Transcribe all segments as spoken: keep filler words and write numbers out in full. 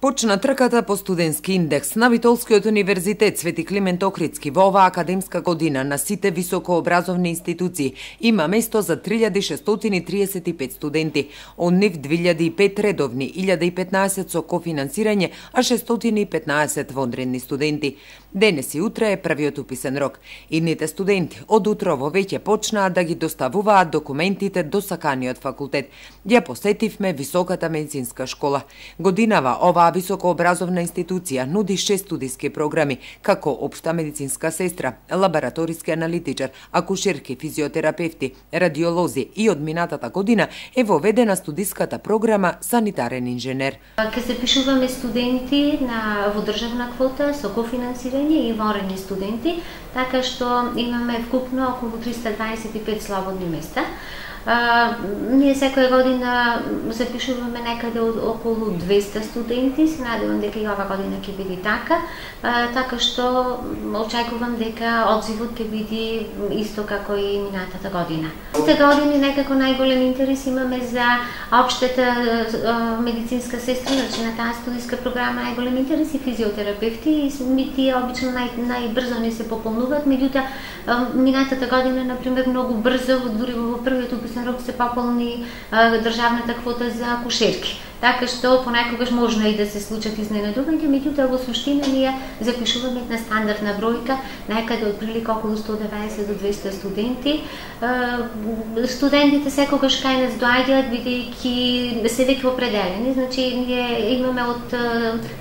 Почна трката по студентски индекс на Битолскиот универзитет Свети Климент Охридски. Во оваа академска година на сите високообразовни институции има место за три илјади шестстотини триесет и пет студенти. Од нив две илјади и пет редовни, илјада и петнаесет со кофинансирање, а шестстотини и петнаесет вонредни студенти. Денес и утре е првиот уписен рок. Идните студенти од утрово веќе почнаа да ги доставуваат документите до саканиот факултет. Ја посетивме Високата медицинска школа. Годинава оваа високообразовна институција нуди шест студиски програми, како општа медицинска сестра, лабораториски аналитичар, акушерки, физиотерапевти, радиолози и од минатата година е воведена студиската програма санитарен инженер. Ке се пишуваме студенти на во државна квота со кофинансирање и вонредни студенти, така што имаме вкупно околу триста дваесет и пет слободни места. А, ние секоја година запишуваме некаде од околу двеста студенти, се надевам дека и ова година ќе биде така, а, така што очекувам дека одзивот ќе биде исто како и минатата година. Сите години некако најголем интерес имаме за општата а, медицинска сестра, значи на таа студиска програма најголем интерес и физиотерапевти, и тие обично нај, најбрзо не се пополнуваат, меѓутоа минатата година, например, многу брзо, дури во првиот уписен рок се пополни а, државната квота за акушерки. Така што понекогаш можно и да се случат изненадувања, меѓутоа во суштина ние запишуваме на стандардна бројка, некаде од прилика околу сто деветдесет до двеста студенти. Студентите секогаш кај нас доаѓаат бидејќи се веќе определени, значи ние имаме од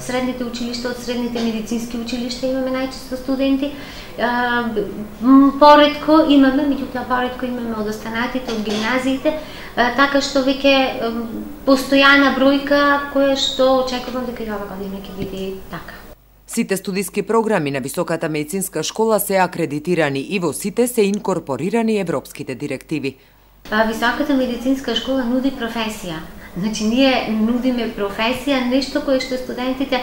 средните училишта, од средните медицински училишта имаме најчесто студенти. Поретко имаме, меѓутоа поретко имаме од останатите, од гимназиите, така што веќе постојана бројка која што очекувам дека и ова година ќе биде така. Сите студиски програми на Високата медицинска школа се акредитирани и во сите се инкорпорирани европските директиви. Високата медицинска школа нуди професија. Значи, ние нудиме професија, нешто кое што студентите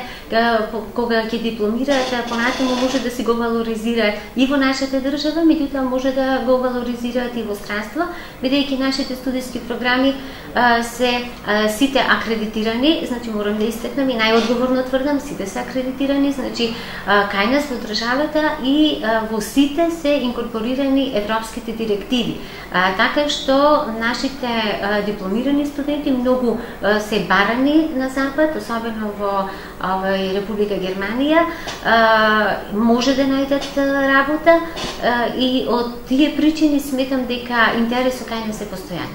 кога ќе дипломираат, понатаму може да си го валоризираат и во нашата држава, меѓутоа може да го валоризираат и во странство, бидејќи нашите студиски програми а, се а, сите акредитирани, значи морам да истакнам и најодговорно тврдам, сите се акредитирани, значи а, кај нас во државата и а, во сите се инкорпорирани европските директиви. А, така што нашите а, дипломирани студенти многу се барани на запад, особено во овој Република Германија, може да најдат работа и од тие причини сметам дека интересот кај нас е постојан.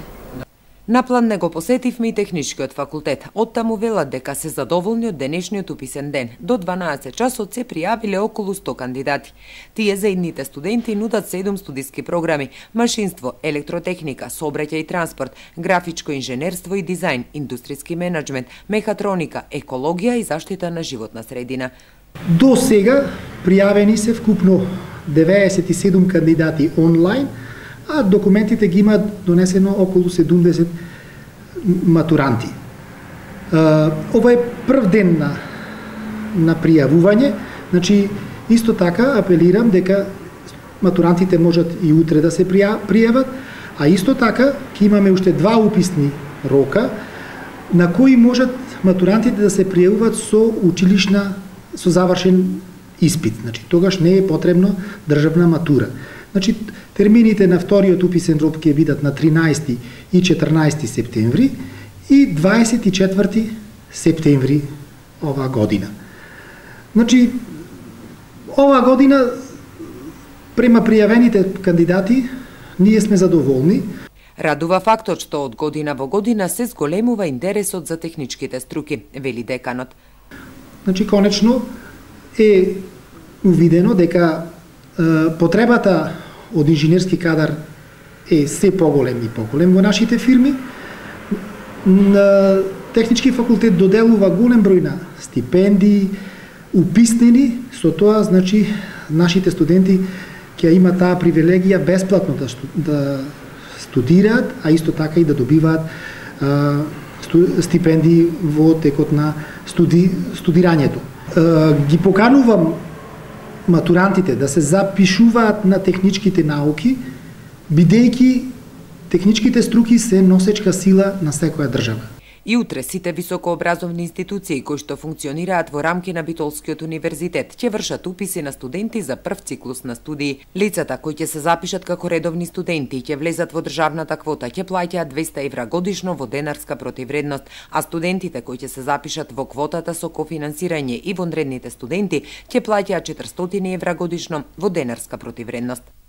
На план не го посетивме и техничкиот факултет. Оттаму велат дека се задоволни од денешниот уписен ден. До дванаесет часот се пријавиле околу сто кандидати. Тие за идните студенти нудат седум студиски програми: машинство, електротехника, сообраќај и транспорт, графичко инженерство и дизајн, индустријски менаџмент, мехатроника, екологија и заштита на животна средина. До сега пријавени се вкупно деветдесет и седум кандидати онлайн, а документите ги имаат донесено околу седумдесет матуранти. Ова е прв ден на, на пријавување, значи исто така апелирам дека матурантите можат и утре да се пријават, а исто така ќе имаме уште два уписни рока на кои можат матурантите да се пријавуваат со училишна, со завршен испит. Значи тогаш не е потребно државна матура. Значи, термините на вториот уписен рок ќе бидат на тринаесети и четрнаесети септември и дваесет и четврти септември оваа година. Значи, оваа година, према пријавените кандидати, ние сме задоволни. Радува фактот што од година во година се зголемува интересот за техничките струки, вели деканот. Значи, конечно е увидено дека потребата од инженерски кадар е се поголем и поголем во нашите фирми. На Технички факултет доделува голем број на стипендии, уписнени, со тоа, значи, нашите студенти ќе имаат таа привилегија бесплатно да, да студираат, а исто така и да добиваат а, сту, стипендии во текот на студи, студирањето. А, ги поканувам матурантите да се запишуваат на техничките науки, бидејќи техничките струки се носечка сила на секоја држава. И утре сите високообразовни институции кои што функционираат во рамки на Битолскиот универзитет ќе вршат уписи на студенти за прв циклус на студии. Лицата кои ќе се запишат како редовни студенти ќе влезат во државната квота ќе плаќаат двеста евра годишно во денарска противредност, а студентите кои ќе се запишат во квотата со кофинансирање и вонредните студенти ќе плаќаат четиристотини евра годишно во денарска противредност.